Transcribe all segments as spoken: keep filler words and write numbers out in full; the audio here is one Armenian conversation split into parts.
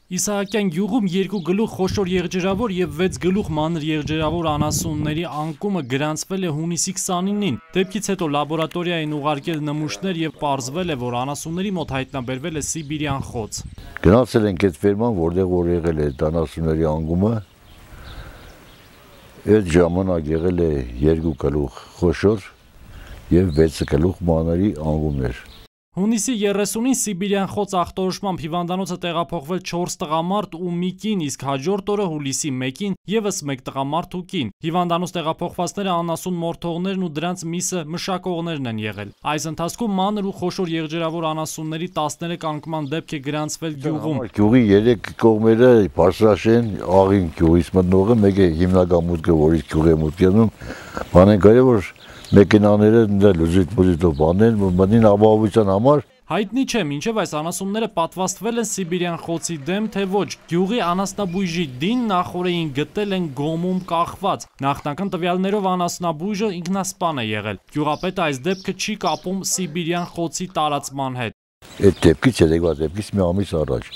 Իսահակյան գյուղում երկու գլուխ խոշոր եղջերավոր եւ վեց գլուխ մանր եղջերավոր անասունների անկումը գրանցվել է հունիսի քսանինին։ Դեպքից հետո լաբորատորիա են ուղարկել նմուշներ եւ պարզվել է, որ անասունների մոտ հայտնաբերվել է սիբիրյան խոց։ Գնացել ենք այդ ֆերման, որտեղ որ եղել է անասունների անկումը։ Այդ ժամանակ եղել է երկու գլուխ խոշոր եւ վեց գլուխ մանրի անկումներ։ Հունիսի երեսունին սիբիրյան խոց ախտորոշմամբ հիվանդանոցը տեղափոխվել չորս տղամարդ ու մի կին, իսկ հաջորդ օրը հուլիսի մեկին եւս մեկ տղամարդ ու կին։ Հիվանդանոց տեղափոխվածները անասուն մորթողներն ու դրանց միսը մշակողներն են եղել։ Այս ընթացքում մանր ու խոշոր եղջերավոր անասունների տասներեք անկման դեպք է գրանցվել գյուղում։ Գյուղի երեք կողմերը Բարսաշեն, Աղին գյուղից մտնողը, մեկը հիմնական մուտքը, որից գյուղի մուտքերում, բան են կարել, որ մեքենաները լուզիտ-մուզիտով բանել, մտնին ապահովության համար։ Հայտնի չէ, մինչև այս անասունները պատվաստվել են սիբիրյան խոցի դեմ, թե ոչ։ Գյուղի անասնաբույժի դին նախորդին գտել են գոմում կախված։ Նախնական տվյալներով անասնաբույժը ինքնասպան է եղել։ Գյուղապետը այս դեպքը չի կապում սիբիրյան խոցի տարածման հետ։ Այդ դեպքից երեկվա դեպքից մի ամիս առաջ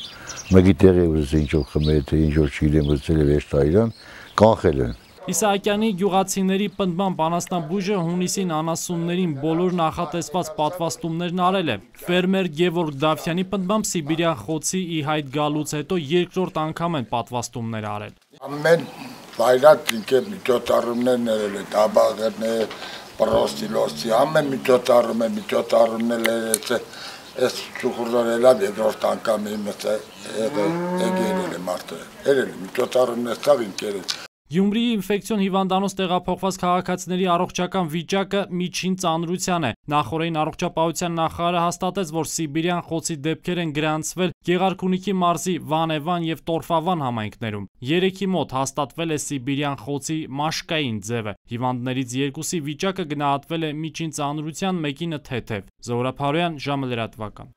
մեկի տեղի ուզեց ինչ-որ խմել, թե ինչ-որ չգիտեմ, ուզեցել է վեշտայրան, կանխել են։ Իսահակյանի գյուղացիների պնդմամբ անասնաբույժը հունիսին անասուններին բոլոր նախատեսված պատվաստումներն արել է։ Ֆերմեր Գևորգ Դավթյանի պնդմամբ սիբիրյան խոցի ի հայտ գալուց հետո երկրորդ անգամ են պատվաստումներ արել։ Ամեն վայրած ինքը միջոցառումներ ներել է, տաբաղներ, պրոստիլոսի, ամեն միջոցառում է, միջոցառումներ ներել է, այս ճուխուրներ էլավ երկրորդ անգամ իմս եղել է մարդը, երել է, միջոցառումներ ստավ ինքեր է։ Գյումրիի ինֆեկցիոն հիվանդանոց տեղափոխված քաղաքացիների առողջական վիճակը միջին ծանրության է։ Նախորդին առողջապահության նախարարը հաստատեց, որ սիբիրյան խոցի դեպքեր են գրանցվել Գեղարքունիքի մարզի Վանևան եւ Տորֆավան համայնքներում։ Երեքի մոտ հաստատվել է սիբիրյան խոցի մաշկային ձևը։ Հիվանդներից երկուսի վիճակը գնահատվել է միջին ծանրության, մեկինը թեթև։ Զորապարոյան, ժամը լրատվական։